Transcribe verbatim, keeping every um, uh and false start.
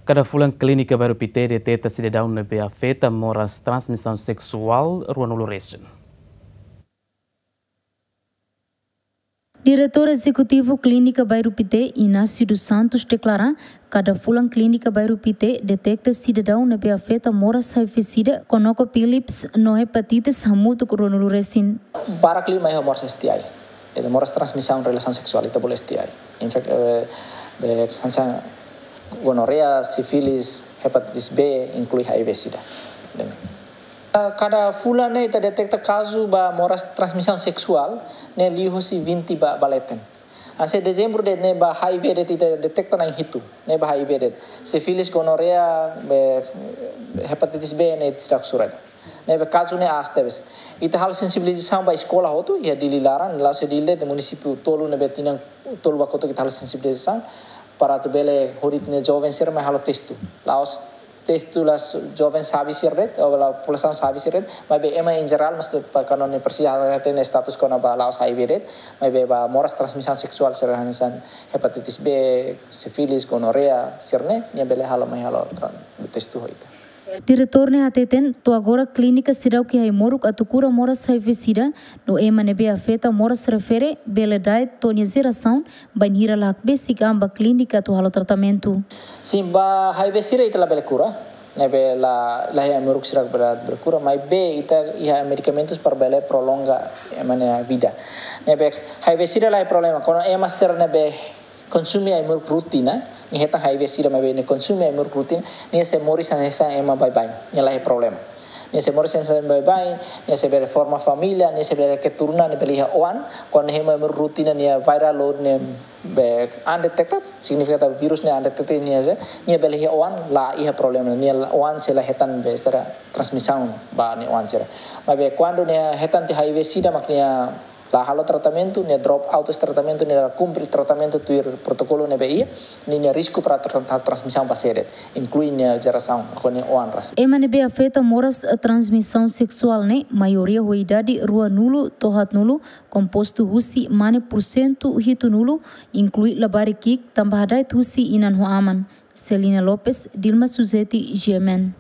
Kada fulan Klínika Bairru Pité deteta sidadaun ne'ebé afeta moras transmisaun seksuál ruanulu resin. Diretór Ezekutivu Klínika Bairru Pité, Inácio dos Santos, deklara, kada fulan Klínika Bairru Pité deteta sidadaun ne'ebé afeta moras H I V sida, gonococcosis, no hepatitis hamutuk ruanulu resin. Barak liu mai ho moras S T I. Ita moras transmisaun relasaun seksuál, ita bolu S T I. Infek-, eh, eh, hanesan gonorreia, sífilis, hepatitis B, inklui H I V sida. Kada fulan ne'e ita deteta kazu ba moras transmisaun seksuál ne'e liu husi vinte ba, ba leten. Hanesan dezembru de'it ne'e ba H I V de'it ita deteta na'in hitu, ne'e ba H I V de'it. Sífilis, gonorreia, be, hepatitis B ne'e seidauk sura. Ne'ebé kazu ne'e aas tebes. Ita halo sensibilizasaun ba eskola hotu, iha Dili laran, la'ós iha Dili de'it, munisípiu tolu ne'ebé tinan tolu ba kotuk ita halo sensibilizasaun, para atu bele hodi ita-nia joven sira mai halo testu. La'ós testu la'ós joven sabi sira de'it, ou la populasaun sabi sira de'it, maibé ema em geral, mas tu pa kano ne presiza hatene status kona-ba la'ós H I V de'it, maibé ba moras transmisaun seksuál sira hanesan hepatitis B, sífilis, gonorreia, sira-ne'e, nia bele halo mai halo tra-, testu ho ita. Diretór ne'e hateten, to'o agora klínika seidauk iha ai-moruk atu kura moras H I V sida, no ema ne'ebé afeta moras refere, bele da'et to'o nia jerasaun, bainhira la hakbesik an ba klínika atu halo tratamentu. Sin, ba H I V sida ita labele kura, ne'ebé la, la iha ai-moruk sira bele, bele kura, maibé ita iha medikamentus para bele prolonga ema nia vida. Ne'ebé H I V sida la iha problema, kuandu ema sira ne'ebé konsume ai-moruk rutina, nia hetan H I V sida maibé nia konsume ai-moruk rutina, nia sei moris hanesan ema baibain, nia la iha problema. Nia sei moris hanesan ema baibain, nia sei bele forma família, nia sei bele keturunan, nia bele iha oan, kuandu nia hemu ai-moruk rutina, nia viral load ne'e be undetected, signifika katak vírus ne'e undetected, nia, nia bele iha oan, la iha problema, nia oan sei la hetan be sira transmisaun ba nia oan sira. Maibé kuandu nia hetan tiha H I V sida mak nia la halo tratamentu, nia drop out husi tratamentu, nia la kumpre tratamentu tuir protokolu ne'ebé iha, nia, nia risku para tra-, tra-, transmisaun ba sira de'it, inklui nia jerasaun, ho nia oan rasik. Ema ne'ebé afeta moras transmisaun seksuál ne'e, maioria ho idade ruanulu to'o haatnulu, kompostu husi mane pursentu hitunulu, inklui labarik ki'ik, tanba hada'et husi inan ho aman. Celina Lopes, Dilma Suzeti, G M N.